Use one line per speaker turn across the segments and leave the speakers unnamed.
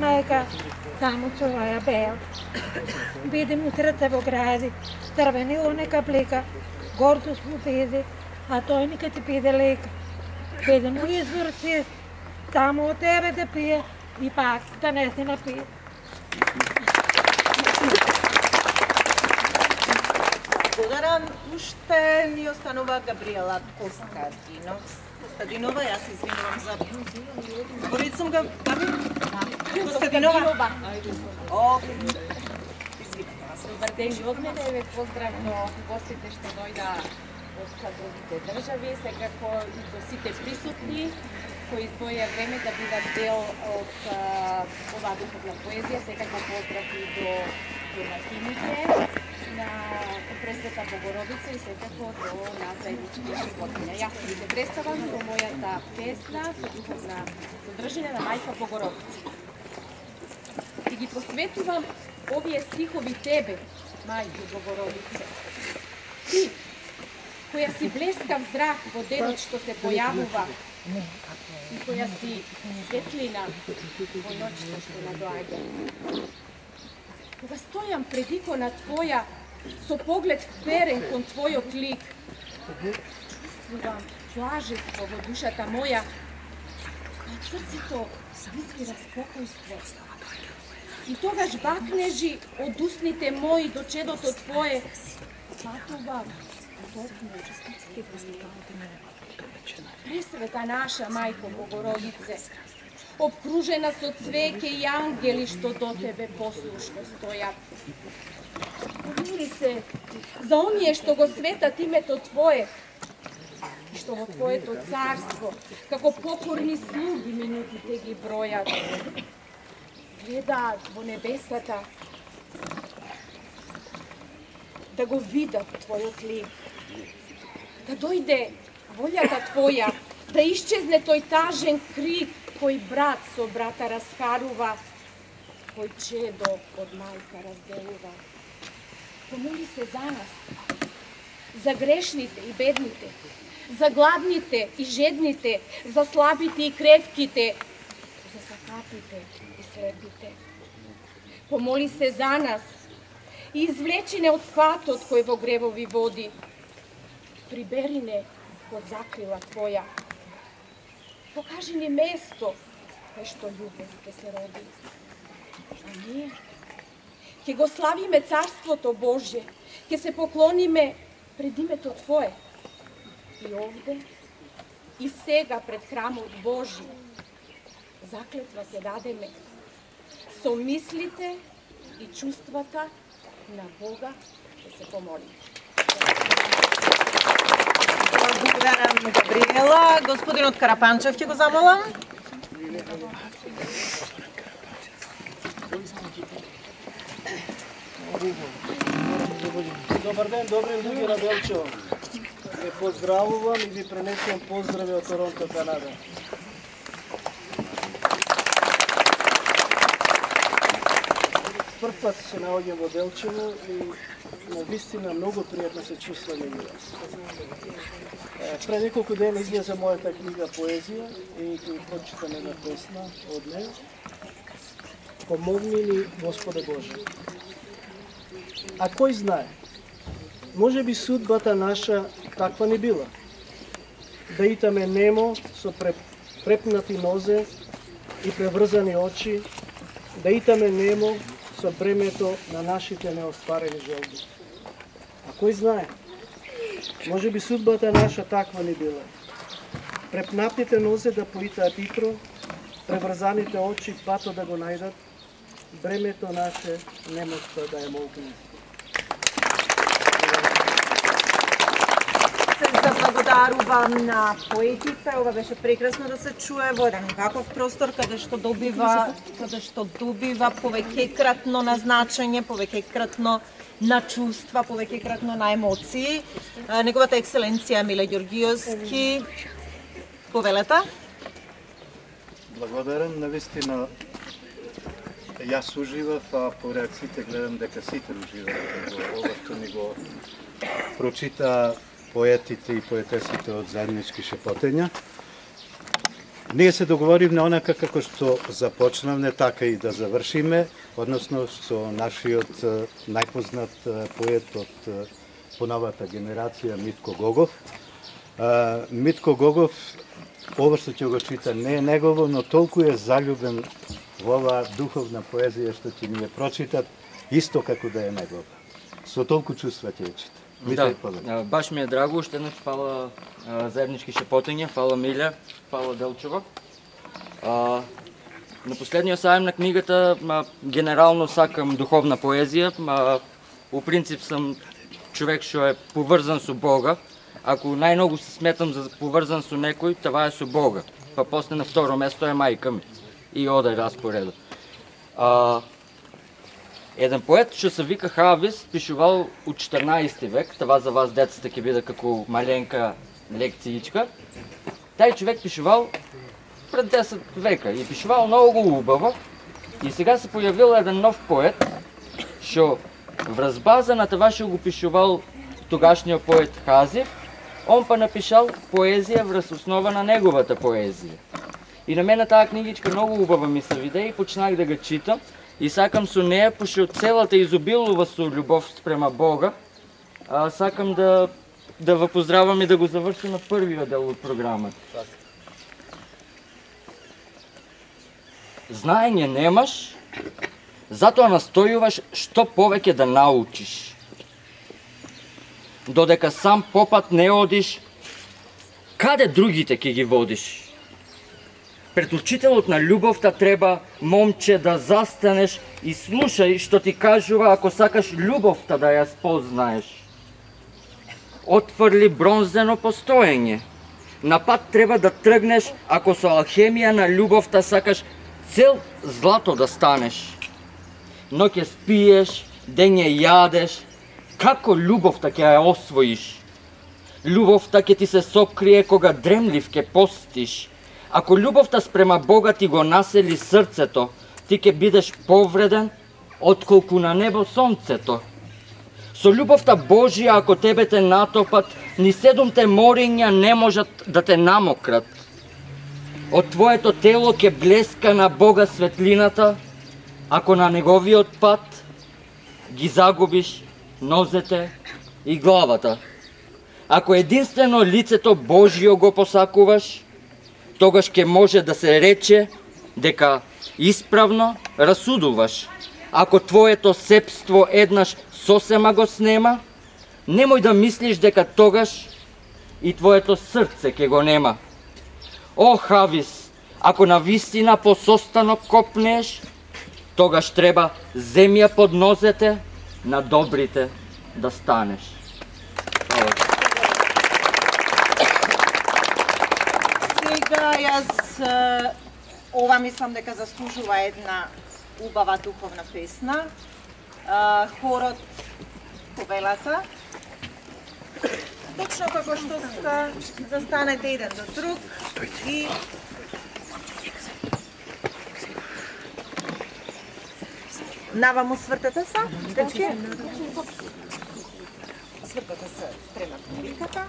мајка, таму цуваја бел. Биде му срце во гради, црвенило нека плика, гордост му биде, а тој нека ти биде лека. Биде му изворци, само од тебе да пие и пак да не се напие.
Благодарам. Уште ни останува Габриела Костадинова, јас извинувам за... Говорит сум Габи? Костадинова? Извинете вас.
Добар ден и од мене, ве поздравно гостите што дојда од другите држави, секако и до сите присутни кои издвоја време да бидат дел од оваа духовна поезија, секако поздрав и до домакините на Пресвета Богородица и секако до нас заедничките животиња. Јас ви се представам со мојата песна со духовна содржина на Мајка Богородица. И ги посветувам овие стихови тебе, Мајко Богородице. Ти, која си блескав зрак во денот што се појавува и која си светлина во ноќта што надоаѓа. Кога стојам пред икона Твоја, со поглед вперен кон Твојот лик, чувствувам блажество во душата моја, од срцето извира спокојство. И тогаш бакнежи од устните мои до чедото Твое, патувам топно. Пресвета наша Мајко Богородице, обкружена со цвеќе и ангели што до Тебе послушно стојат. Помили се за оние што го светат името Твое и што во Твоето царство, како покорни слуги минутите ги бројат. Гледаат во небесата да го видат Твојот лик, да дојде волјата Твоја, да исчезне тој тажен крик кој брат со брата раскарува, кој чедо од мајка разделува. Помоли се за нас, за грешните и бедните, за гладните и жедните, за слабите и кревките, за сакатите и слепите. Помоли се за нас и извлечи не од патот кој во гревови води. Прибери не под закрила Твоја. Покажи ни место кај што љубов ќе се роди. А ние ќе го славиме Царството Божје, ќе се поклониме пред името Твое. И овде, и сега пред храмот Божји, заклетва ќе дадеме со мислите и чувствата на Бога ќе се помолиме.
Благодарам, Габриела. Господинот Карапанчев ќе го замолам.
Добар ден, добри луѓе на Белчево. Ве поздравувам и ви пренесувам поздрави од Торонто, Канада. Прв пат се наоѓам во Белчево и навистина многу пријатно се чувствам меѓу вас. Пред неколку дена излезе мојата книга поезија и ќе ви прочитам една песна од неја. Помогни ни, Господе Боже. А кој знае? Може би судбата наша таква не била. Да итаме немо со препнати нозе и преврзани очи, да итаме немо со бремето на нашите неостварени желби. А кој знае? Може би судбата наша таква не била. Препнатите нозе да поитаат итро, преврзаните очи пато да го најдат, бремето наше немоста да ја молкне.
Заблагодарувам на поетите. Ова беше прекрасно да се чуе во еден ваков простор каде што добива повеќекратно на значење, повеќекратно на чувства, повеќекратно на емоции. Неговата екселенција Миле Ѓоргиевски, повелете.
Благодарам, навистина јас уживав, а по реакциите гледам дека сите уживаат во ова што ни го прочита поетите и поетесите од заеднички шепотења. Ние се договоривме онака како што започнавме, така и да завршиме, односно со нашиот најпознат поет од поновата генерација Митко Гогов. Митко Гогов, ова што ќе го чита не е негово, но толку е заљубен во оваа духовна поезија што ќе ни ја прочитат, исто како да е негова. Со толку чувства ќе ја чита.
Да, баш ми е драго, уште еднаш фала заеднички шепотење, фала Милја, фала Делчева. На последниот сајм на книгата генерално сакам духовна поезија, у принцип сум човек што е поврзан со Бога. Ако најмногу се сметам за поврзан со некој, това е со Бога. Па после на второ место е мајка ми. И оде распоредот. Еден поет што се вика Хавис пишувал у 14 век, това за вас децата ќе биде како маленка лекциичка. Тај човек пишувал пред 10 века и пишувал многу убаво. И сега се појавил еден нов поет што врз база на това што го пишувал тогашниот поет Хазив, он па напишал поезија врз основа на неговата поезија. И на мене таа книгичка многу убава ми се виде и почнах да го читам. И сакам со неја, пошто целата изобилува со љубов спрема Бога, сакам да ве поздравам и да го завршим на првиот дел од програмата. Знаење немаш, затоа настојуваш што повеќе да научиш. Додека сам попат не одиш, каде другите ќе ги водиш? Пред учителот на љубовта треба, момче, да застанеш и слушај што ти кажува ако сакаш љубовта да ја спознаеш. Отфрли бронзено постоење. На пат треба да тргнеш ако со алхемија на љубовта сакаш цел злато да станеш. Ноќе спиеш, дење јадеш, како љубовта ќе ја освоиш? Љубовта ќе ти се сокрие кога дремлив ќе постиш. Ако љубовта спрема Бога ти го насели срцето, ти ќе бидеш повреден отколку на небо сонцето. Со љубовта Божија, ако тебе те натопат, ни 7 мориња не можат да те намократ. Од твоето тело ќе блеска на Бога светлината, ако на неговиот пат ги загубиш нозете и главата. Ако единствено лицето Божјо го посакуваш, тогаш ќе може да се рече дека исправно расудуваш. Ако твоето сепство еднаш сосема го снема, немој да мислиш дека тогаш и твоето срце ќе го нема. О, Хавис, ако навистина по состанок копнеш, тогаш треба земја под нозете на добрите да станеш.
Сега јас ова мислам дека заслужува една убава духовна песна. Хорот Повелата. Точно како што застанете еден до друг и наваму свртете се, свртете се према публиката.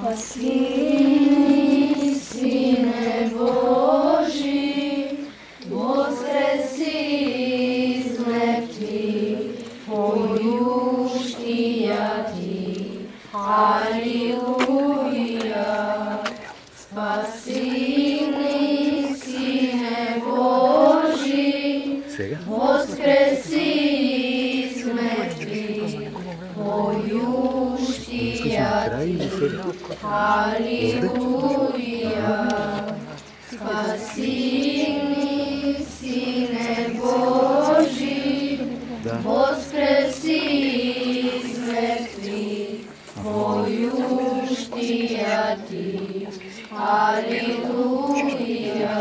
Спаси, Сине Божи, воскреси из мертви, појуштија ти, алилуја. Спаси ни, Сине Божи, воскреси из мертви, појуштија ти, алилуја. Спасени, Сине Божи, воскреси из мертвих, поющия Ти. Алилуја.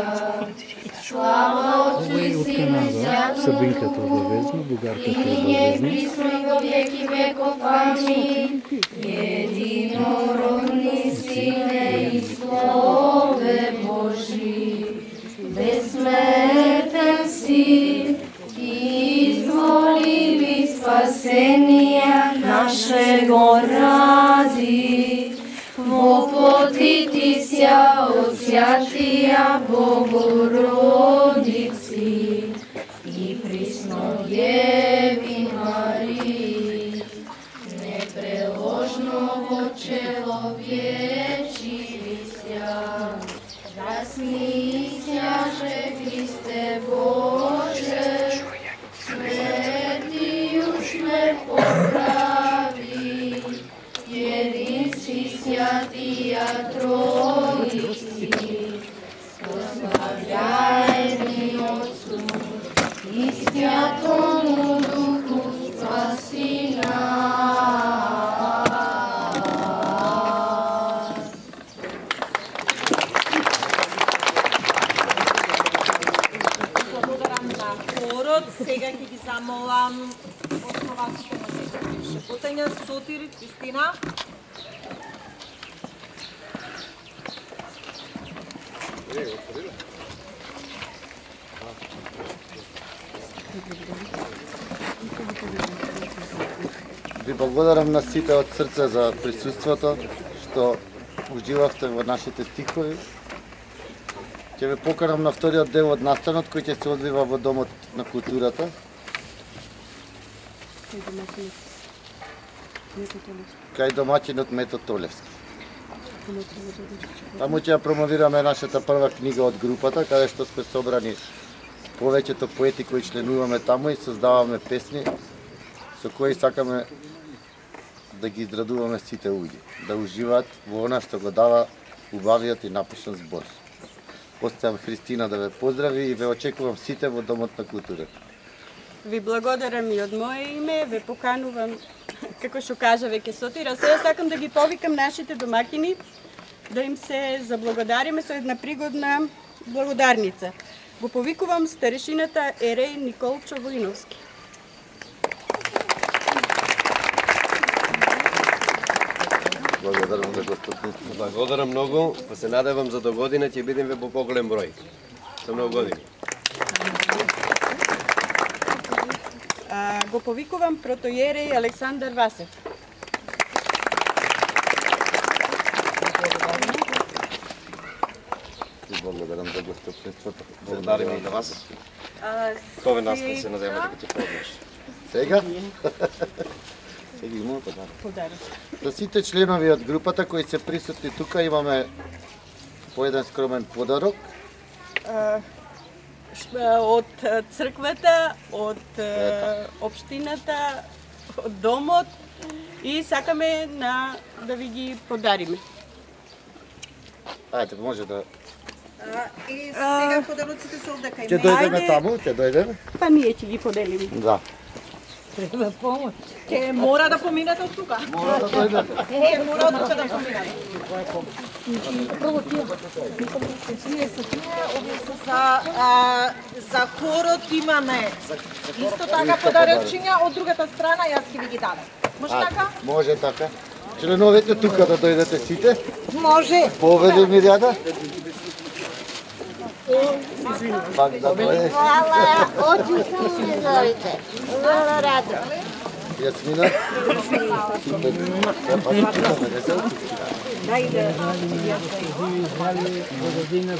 Слава Отцу и Сину и Святому
Србинката обавезно, бугарката
обавезно. Присно и во веки веков. Амин. Единородни Сине и Слове Божи, безсмертен си, изволи спасение нашего ради. Во плоти Ти ся од Святија Богородици и присно Деви Марии, непреложно во человечи ся, разнисяше Христе Боже, светију смрт поправи, един си Святија Троици, прославляеми Отцу и Святому Духу, спаси нас.
Благодарам на хорот. Сега ќе ги замолам основачите на секој шепотења, Сотир, Кристина.
Ви благодарам на сите од срце за присуството, што уживавте во нашите стихови. Ќе ве покарам на вториот дел од настанот кој ќе се одвива во Домот на културата. Кај домаќинот Мето Толевски. Таму ќе ја промовираме нашата прва книга од групата, каде што сме собрани повеќето поети кои членуваме таму и создаваме песни со кои сакаме да ги израдуваме сите луѓе, да уживаат во она што го дава убавиот и напишан збор. Оставам Христина да ве поздрави и ве очекувам сите во Домот на културата.
Ви благодарам и од мое име, ве поканувам, како што кажа веќе Сотира, сега сакам да ги повикам нашите домакини, да им се заблагодариме со една пригодна благодарница. Го повикувам старешината Ереј Николчо Воиновски.
Благодарам за гостоприемството.
Благодарам многу, па се надевам за до година ќе бидеме во поголем број. Со многу години.
Го повикувам протоиереј Александар Васев.
Благодарам за гостоприемството.
Благодарим и на вас. Кове настан се надеваме дека ќе помнеш.
Сега? Сега имаме подарок. За сите членови од групата кои се присутни тука имаме по еден скромен подарок.
Од црквата, од општината, од домот и сакаме да ви ги подариме.
Ајде, може да...
И сега подароците се овде кај
Ќе дојдеме таму, ќе дојдеме.
Па ние ќе ги поделиме.
Да.
Треба помош.
Ќе мора да поминете од тука.
Мора да дојдете.
Ќе мора од тука да поминете.
Прво тие.
За хорот имаме исто така подарочиња, од другата страна јас ќе ви ги дадам. Може така?
Може така. Членовете тука да дојдете сите.
Може.
Поведе Миријада. Пак да дојде.
Хвала, одлично ми зовите. Много радо.
Јасмина.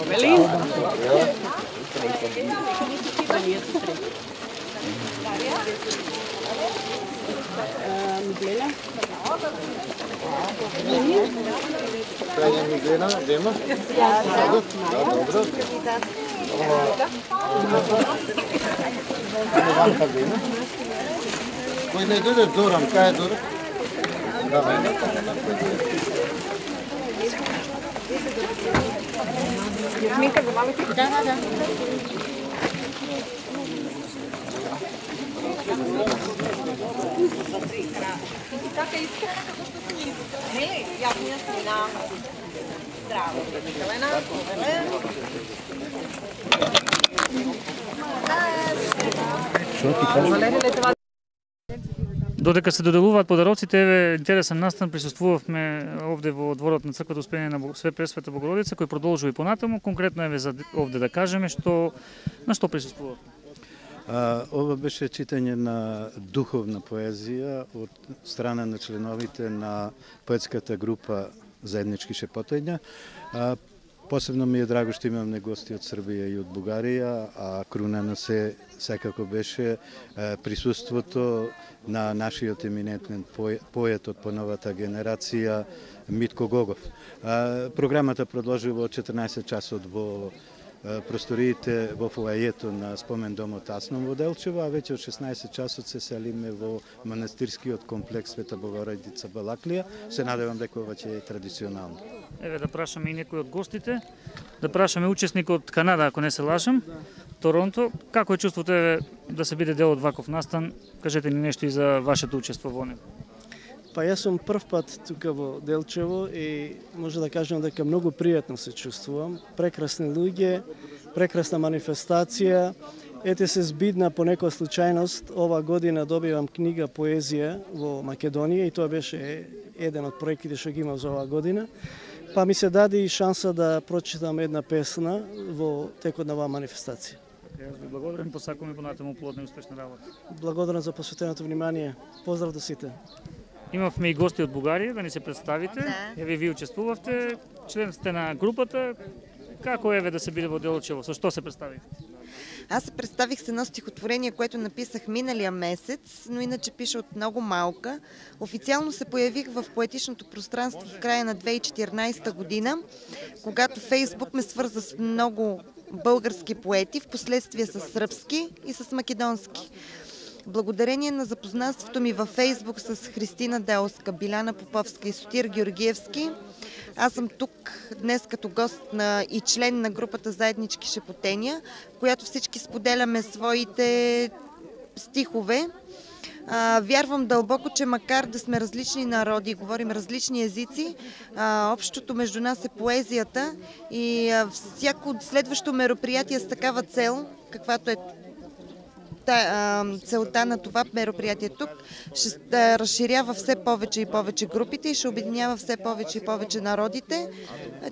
Велин. Миглена.
Крајна Миглена, Дема. Добро. Кој не дојде Зоран, кај е Зоран?
Јасминка, забавите?
Да.
Така искрена како што си искрена. Нели? Јасмина. Здраво. Елена,
Додека се доделуваат подароците, еве интересен настан, присуствувавме овде во дворот на црквата Успение на Све Пресвета Богородица, кој продолжува и понатаму. Конкретно еве за овде да кажеме на што присуствувавме.
Ова беше читање на духовна поезија од страна на членовите на поетската група Заеднички шепотења. Посебно ми е драго што имаме гости од Србија и од Бугарија, а круна на се секако беше присуството на нашиот еминентен поет од поновата генерација Митко Гогов. Програмата продолжува од 14 часот во просториите во фоајето на спомен домот Асном во Делчево, а веќе од 16 часот се селиме во манастирскиот комплекс Света Богородица Балаклија. Се надевам дека ова ќе е традиционално.
Еве да прашаме и некој од гостите, да прашаме учесник од Канада, ако не се лажам, Торонто. Како е чувството еве да се биде дел од ваков настан? Кажете ни нешто и за вашето учество во него.
Па јас сум прв пат тука во Делчево и може да кажам дека многу пријатно се чувствувам. Прекрасни луѓе, прекрасна манифестација. Ете се збидна по некоја случајност, ова година добивам книга поезија во Македонија и тоа беше еден од проектите што ги имав за оваа година. Па ми се даде и шанса да прочитам една песна во текот на оваа манифестација.
Јас ви благодарам, посакувам и понатаму плодна и успешна работа.
Благодарам за посветеното внимание. Поздрав до сите.
Имавме и гости од Бугарија, да ни се представите. Еве ви учествувавте, член сте на групата. Како еве да се биде во Делчево? Со што се представивте?
Аз се представих с едно стихотворение, което написах миналия месец, но иначе пиша от много малка. Официално се появих в поетичното пространство в края на 2014 година, когато Фейсбук ме свърза с много български поети, в последствие с сръбски и с македонски. Благодарение на запознанството ми във Фейсбук с Христина Делска, Биляна Поповска и Сотир Георгиевски, аз съм тук днес като гост и член на групата Заеднички шепотења, в която всички споделяме своите стихове. Вярвам дълбоко, че макар да сме различни народи, говорим различни езици, общото между нас е поезията и всяко следващо мероприятие с такава цел, каквато е целта на това мероприятие тук, ще разширява все повече и повече групите и ще обединява все повече и повече народите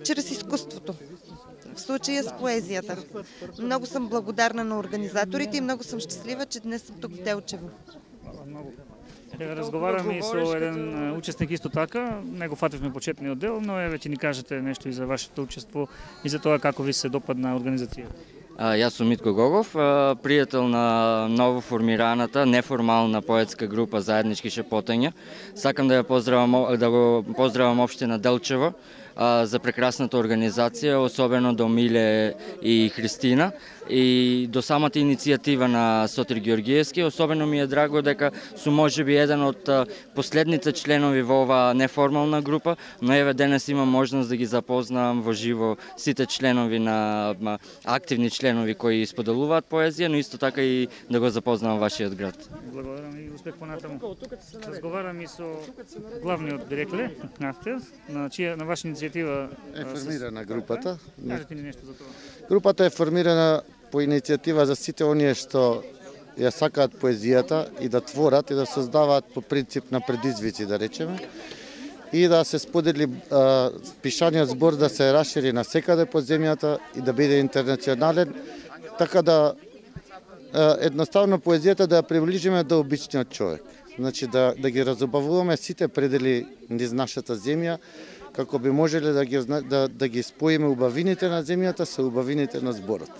чрез изкуството. В случая с поезията. Много съм благодарна на организаторите и много съм щастлива, че днес съм тук в Делчево.
Разговараме и со еден учесник исто така, него фативме почетниот дел, но еве ќе ни кажете нешто и за вашето учество и за тоа како ви се допадна организацијата.
Јас сум Митко Гогов, пријател на ново формираната неформална поетска група Заеднички шепотења. Сакам да го поздравам општина Делчево за прекрасната организација, особено до Миле и Христина и до самата иницијатива на Сотир Георгиевски. Особено ми е драго дека сум можеби еден од последните членови во оваа неформална група, но еве денес имам можност да ги запознам во живо сите членови на активни членови кои споделуваат поезија, но исто така и да го запознам вашиот град.
Благодарам и успех понатаму. Разговарам и со главниот директор на ваша иницијатива
е формирана групата.
Кажете ни нешто за тоа.
Групата е формирана по иницијатива за сите оние што ја сакаат поезијата и да творат и да создаваат по принцип на предизвици, да речеме, и да се сподели пишаниот збор да се расшири на секаде по земјата и да биде интернационален, така да едноставно поезијата да ја приближиме до обичниот човек. Значи да ги разубавуваме сите предели низ нашата земја, како би можеле да ги споиме убавините на земјата со убавините на зборот.